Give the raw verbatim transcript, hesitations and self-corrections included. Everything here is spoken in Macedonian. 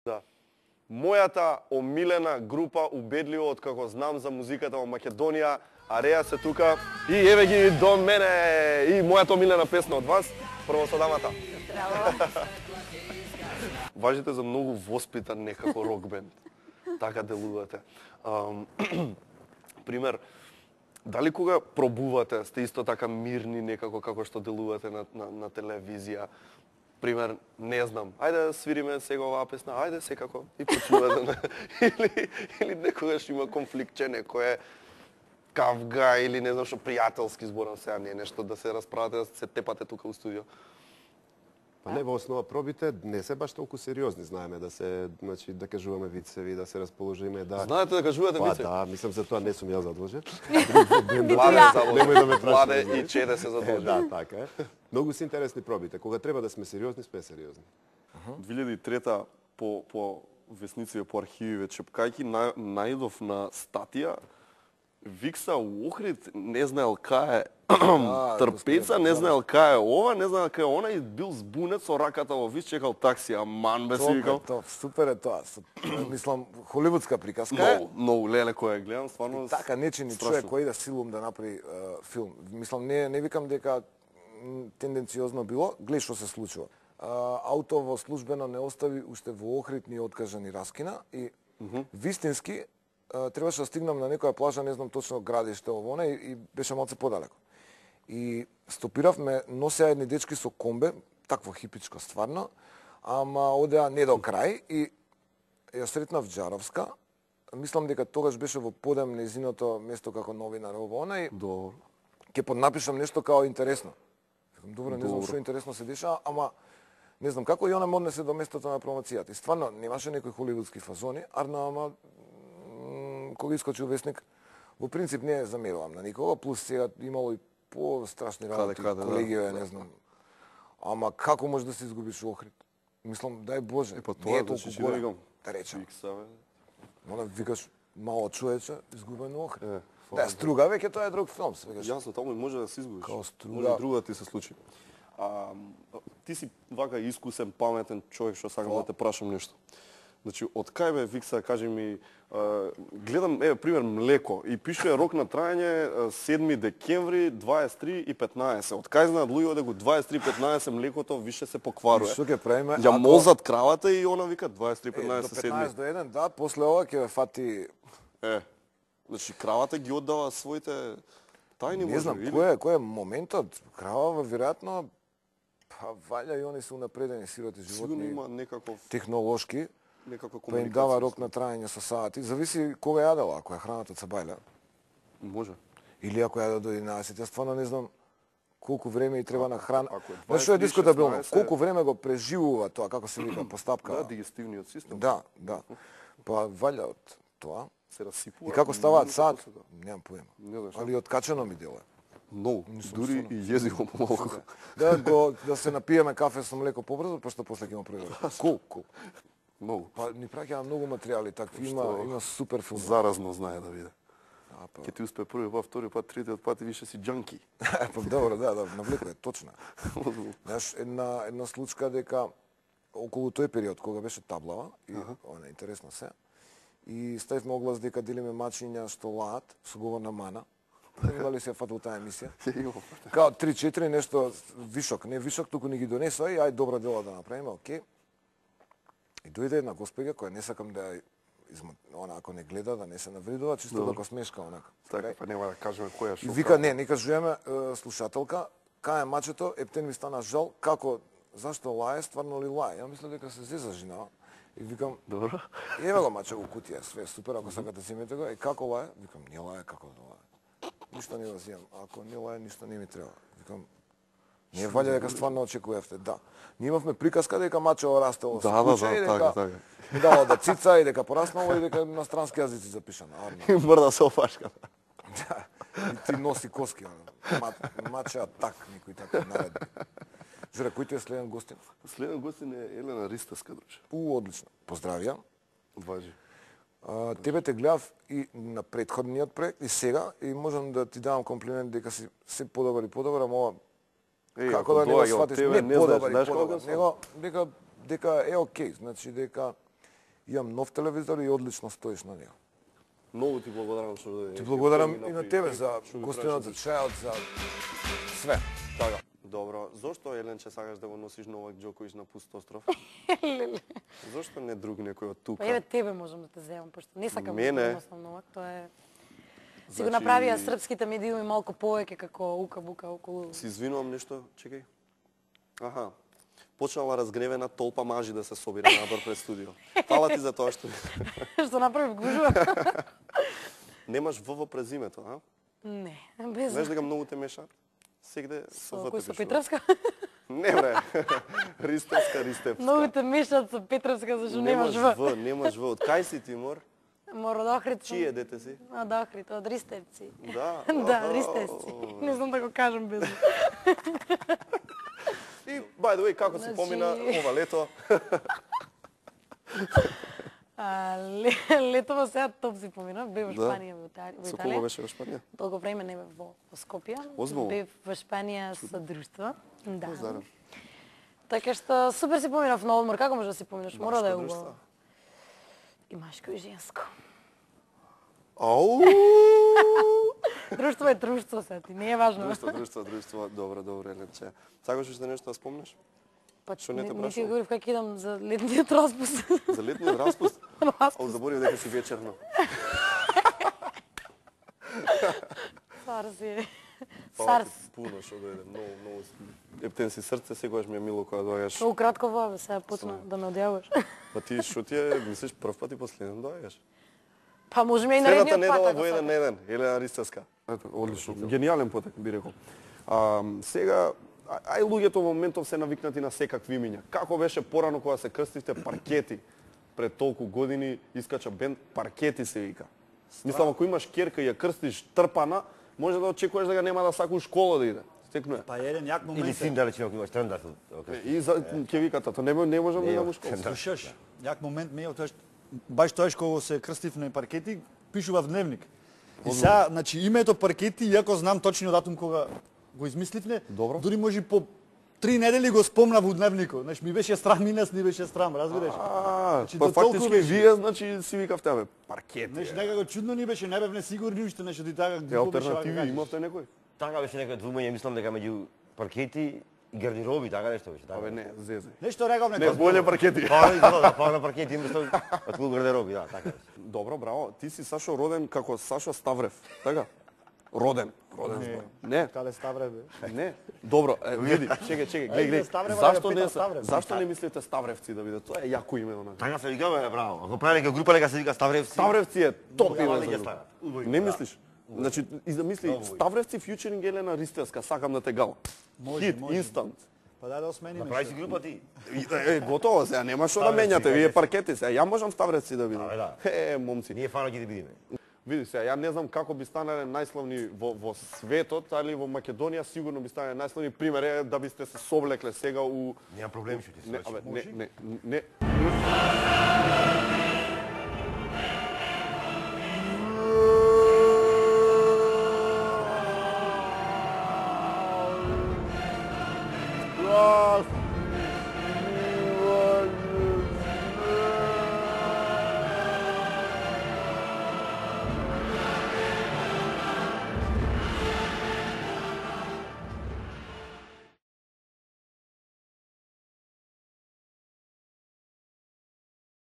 Да. Мојата омилена група убедливо откако знам за музиката во Македонија, Ареа се тука и еве ги до мене и мојата омилена песна од вас, прво со дамата. Здраво. Важите за многу воспитан некако рок бенд. Така делувате. Um, пример, дали кога пробувате, сте исто така мирни некако како што делувате на, на, на телевизија? Пример, не знам, ајде да свириме сега оваа песна, ајде секако и почнувате. или, или некогаш има конфликтче, некој е кавга или не знам што пријателски зборам сега, не нешто да се расправате, да се тепате тука у студио. Па не, во основа пробите не се баш толку сериозни, знаеме да се, значи да кажуваме вицеви, да се расположиме, да. Знаете да кажувате па, вицеви? Да, мислам за тоа не сум ја задолжен. Владе задолжен. Немој да ме прашуваш. Владе и Чеде се задолжен. Да, така е. Многу се интересни пробите. Кога треба да сме сериозни, сме сериозни. две илјади и трета по по весници по архививе чепкајки на, најдов на статија Викса у Охрид не знаел кај е трпеца, не знаел кај е ова, не знаел кај е она и бил збунет со раката во вис, чекал такси, аман бе си викал. Тоа, супер е тоа. Мислам, холивудска приказка е. Многу, многу, леле која ја гледам, стварно. Така нечени човек кој да силум да направи uh, филм. Мислам, не, не викам дека тенденциозно било, гледа што се случува. Uh, ауто во службено не остави уште во Охрид ни откажа ни раскина и mm -hmm. вистински uh, требаше да стигнам на некоја плажа, не знам точно градиште ово и, и беше малце подалеко. И стопиравме, носеа едни дечки со комбе, такво хипичко стварно, ама одеа не до крај и ја сретнав Джаровска. Мислам дека тогаш беше во подем незиното место како новинар ово она и Добро. ќе поднапишам нешто као интересно. Добро, не знам што интересно се деша, ама не знам како и она однесе до местото на промоцијата. И стварно немаше некои холивудски фазони, арна ама кога искочи весник, во принцип не замерувам на никого, плюс сега имало и по-страшни работи, каде, колегија, да, не знам. Ама како може да се изгубиш Охрид? Мислам, дај Боже, е, па не е тоа, толку значи, горе. да Да речем. Викса, бе. Мора викаш мало човече, изгубено Охрид. Е, Да, Струга веќе тоа е друг филм, свегаш. Јасно, таму може да се изгубиш. Као Струга. Може и друго да ти се случи. А, ти си вака искусен, паметен човек што сакам да те прашам нешто. Значи, од кај бе, Викса, кажи ми, а, гледам, еве, пример, млеко, и пишува рок на трајање седми декември, дваесет и три и петнаесет. Од кај знаат луѓе дека дваесет и три и петнаесет млекото више се покварува? Што ќе правиме? Ја мозат кравата и она вика дваесет и три петнаесет седми. До петнаесет до еден, да, после ова ќе ве фати. Е, значи, кравата ги оддава своите тајни, Не знам, кој е, кој е моментот? Кравава, веројатно, па валја и они се унапредени сироти животни. Сигурно има некаков технолошки. Некаква па им дава рок на трајање со сати. Зависи кога јадела, ако е храната цабајля. Може. Или ако јаде до единаесет. Јас стварно не знам колку време и треба на храна. Ако е Знаеш што е дваесет, дискутабилно? шеснаесет Колку време го преживува тоа, како се вика, постапка. Да, дигестивниот систем. Да, да. Па валја од тоа. Се расипува. И како ставаат сад? Немам поема. Не знаеш. Али откачено ми делува. Многу, дури и језиво помалку. Да го да се напиеме кафе со млеко побрзо, пошто после ќе има превод. Кул, кул. Многу. Па ни праќаа многу материјали такви, има има супер филм. Заразно знае да биде. А, па. Ќе ти успе први пат, втори пат, третиот пат и више си џанки. Па добро, да, да, навлекува, точно. Знаеш, една една случка дека околу тој период кога беше таблава и она интересно се. И ставивме оглас дека делиме мачиња што лаат со говорна мана. Имали се фатал таа емисија. Као три-четири нешто вишок, не вишок, туку ни ги донесоа и ај добро дело да направиме, окей. И дојде една госпоѓа која не сакам да изма... она ако не гледа да не се навредува, чисто да го смешка онака. Така, па нема да кажеме која шо. И вика не, не кажуваме слушателка, кај е мачето, ептен ми стана жал, како зашто лае, стварно ли лае? Ја мисля дека се зеза жена. И викам, добро. Еве го маче во кутија, све супер, ако сакате земете го. И како лае? Викам, не лае, како да лае. Ништо не го земам. Ако не лае, ништо не ми треба. Викам, не валја дека стварно очекувавте, да. Ние имавме приказка дека мачево растело да, со куче да, и да, дека така, така. ми дало да цица и дека пораснало и дека на странски јазици запишано. И мрда со опашката. Да. И ти носи коски, мачеа так, никој така наредби. Журе, кој ти е следен гостин? Следен гостин е Елена Ристевска, друже. У, одлично. Поздравија. Важи. А, тебе те гледав и на претходниот проект и сега и можам да ти давам комплимент дека си се подобар и подобар, ама ова Еј, како да не го сватиш, не, не подобар знаеш, и подобар, знаеш него дека дека е окей, значи дека Имам нов телевизор и одлично стоиш на него. Многу ти благодарам што Ти благодарам и на тебе за гостинот, за чајот, за све. Така. Добро, зошто Еленче сакаш да го носиш Новак Џоковиќ на пуст остров? Зошто не друг некој од тука? Па еве тебе можам да те земам, пошто не сакам да Мене? го носам Новак, тоа е си го Значи- направија српските медиуми малку повеќе како ука-бука околу. Си извинувам нешто, чекај. Аха. Почнала разгневена толпа мажи да се собира надвор пред студио. Фала ти за тоа што Што направив гужва? немаш В во презимето, а? Не, без. Знаеш дека многу те мешаат? Сегде со Со В кој те со пишува. Петровска? Не бре. Ристевска, Ристевска. Многу те мешаат со Петровска, зашто немаш Немаш В. В, немаш В. Од кај си Тимор? Мора да Охрид. сум. Чие дете си? А, да Охрид, од Ристевци. Да. Да, Охо. Ристевци. Не знам да го кажам без. И, by the way, како се Значи- помина ова лето? А, ле- летово сега топ си помина, бев во Да. Шпанија, во Италија. во Со Италија. кого беше во Шпанија? Долго време не бев во, во Скопје. Озбилно? Бев во Шпанија со друштво. Да. Поздрав. Така што супер си поминав на одмор. Како може да си поминаш? Мора да е Машко убаво. друштво? И машко и женско. Ау! Друштво е друштво се ти, не е важно. Друштво, друштво, друштво. Добро, добро, Еленче. Сакаш уште нешто да спомнеш? Па Што не те не ти прашувам? говорив како идам за летниот распуст. За летниот распуст? Ау, Распуст. заборив дека си вечерно. Сар си. Фала Сар. ти пуно што дојде, многу, многу си. Ептен си срце, секогаш ми е мило кога доаѓаш. Тоа кратко во сега почна да ме одјаваш. Па ти што ти е, мислиш прв пат и последен доаѓаш? Па можеме и Следната наредниот пат. недела ако во еден сакаш. на еден, Елена Ристевска. Ето, одлично. Гениален потек би рекол. А, сега а- ај луѓето во моментов се навикнати на секакви имиња. Како беше порано кога се крстивте паркети? Пред толку години искача бенд паркети се вика. Мислам ако имаш ќерка и ја крстиш трпана, може да очекуваш дека нема да сака у школа да иде. Стекно е. Па еден јак момент. Или син да речеме ако имаш трендар. И за ќе вика тато, не, не можам да идам у школа. Слушаш, јак момент ме тоа баш тоа кога се крстив на паркети, пишува в дневник. И сега, значи името паркети, иако знам точниот датум кога го измисливне, Добро. дури може по три недели го спомнав у дневникот. Значи ми беше страм, и нас ни беше страм, разбираш? А, Значи, па до толку фактички беше. вие значи си викавте абе паркети. Значи некако чудно ни беше, не бевме сигурни уште нешто ти така. Е, глупо беше, алтернативи вака, имавте некој? Така беше некој двумење, мислам дека меѓу паркети и гардероби, така нешто беше. Така. Абе не, зезе. Нешто реков Не, некој. боле паркети. Па, да, па на паркети имаш отколку гардероби, да, така беше. Добро, браво. Ти си Сашо роден како Сашо Ставрев, така? Роден. Роден Не. збор. Не. Кале Ставре бе. Не. Добро, е, види, чекај, чекај, гледај, Ајде, гледај. Ставрева да Зашто го не питам се, Ставрев. зашто не мислите Ставревци да биде? Тоа е јако име онака. Така се вика, бе, браво. Ако прави нека група, нека се вика Ставревци. Ставревци е топ Убаво име ќе за стават. група. Убаво, Не да. мислиш? Значи, и замисли, Много убаво. Ставревци фьючеринг Елена Ристевска, сакам да те гала. Може, Хит, може. инстант. Па дај да смениме. Направи си група ти. Е, е, готово сега, нема што да Ставревци, менјате, вие Ставревци. паркети сега. Ја можам Ставревци да видам. Абе, да. Е, момци. Ние фано ќе ти бидиме. Види се, ја не знам како би станале најславни во, во светот, али во Македонија сигурно би станале најславни. Пример е да бисте се соблекле сега у... Нема проблеми што ти се Не, случи. абе, не, не, не.